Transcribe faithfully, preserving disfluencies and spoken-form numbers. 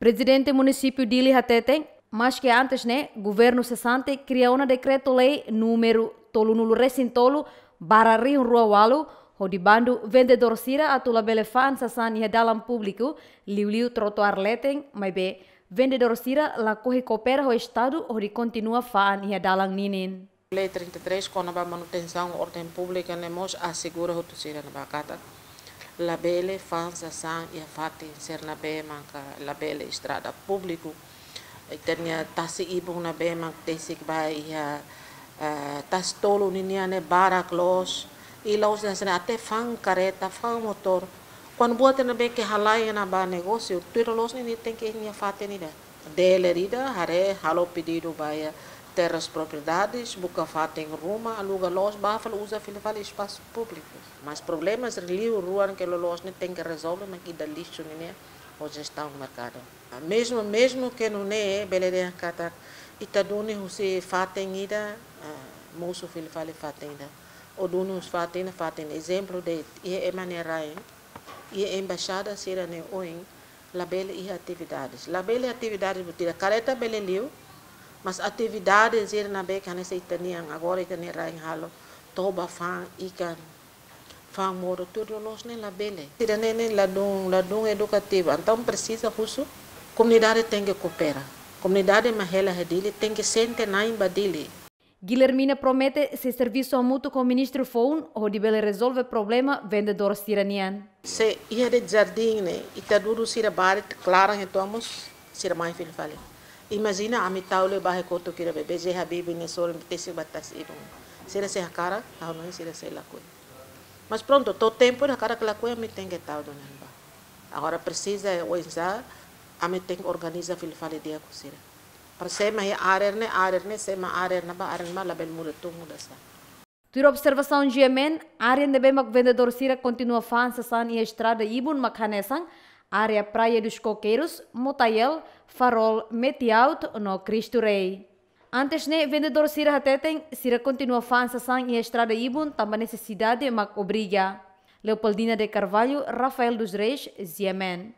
Prezidente Munisípiu Dili hateten, maske antes ne'e, governu sesante kria ona dekretu-lei númeru tolunulu resin tolu barra rihun rua ualu, hodi bandu vendedór sira atu labele fa'an sasán iha dalan públiku, liuliu trotuár leten, maibé vendedór sira lakohi koopera ho Estadu hodi kontinua fa'an iha dalan ninin. Lei trinta e três kona-ba manutensaun orden públika ne'e mós asegura hotu sira ne'ebá katak labele fa'an sasán iha fatin sira ne'ebé maka labele estrada públiku. Ita-nia tasi-ibun ne'ebé mak tesik ba iha, eh, tasi-tolu ninian ne'e barak loos. I la'ós hanesan ne'e, até fa'an karreta, fa'an motór. Kuandu buat ne'ebé ke halai ona ba negósiu, tuir loloos ne'e tenke iha nia fatin ida. Dealer ida haree halo pedidu ba iha Terras Propriedades, buka fatin ruma, aluga loos, bá fali uza fila fali espasu públiku. Mas problema sira liu rua ne'e ke loloos ne'e tenke rezolve mak ida lixu nian ho jestaun merkadu. Mezmu, mezmu ke nune'e, bele dehan katak ita duni husi fatin ida, ah, mosu fila fali fatin ida. Ou duni husi fatin ida, fatin ida. Ezemplu de'it, iha ema nia rain, iha embaixada sira-ne'e oin, labele iha atividades. Labele atividades buat ida, karreta bele liu, mas atividades sira ne'ebé ke hanesan ita-nian, agora ita-nia rain halo, toba fa'an, ikan, fa'an modo, tuir loloos ne'e labele. Sira-ne'e ne'e ladún, ladún edukativu. Entaun presiza husu komunidade tenke koopera. Komunidade mak hela iha Dili tenke sente na'in ba Dili. Guilhermina promete sei servisu hamutuk ho ministru foun hodi bele rezolve problema vendedór sira-nian. Se iha de'it jardín ne'e, ita dudu sira barit klaran entaun mós sira mai fila fali. Imajina ami tau liu ba iha kotuk ida be, B J Habibie nia sorin tesik ba tasi-ibun. Sira sei hakarak, ha'u hanoin sira sei lakohi. Mas prontu, to'o tempu ida hakarak lakohi ami tenke tau duni ba. Agora presiza oinsá, ami tenke organiza fila fali di'ak ho sira. Para sé mak iha área ne'e, área ne'e, sé mak área ne'ebá, área ne'ebá labele muda tun, muda sá. Tuir observasaun G M N, área ne'ebé mak vendedór sira kontinua fa'an sasán iha estrada ibun mak hanesan área Praia dos Coqueiros, Motael, Farol, Metiaut no Cristo Rei. Antes ne'e, vendedór sira hateten, sira kontinua fa'an sasán iha estrada ibun tanba nesesidade mak obriga. Leopoldina de Carvalho, Rafael dos Reis, G M N.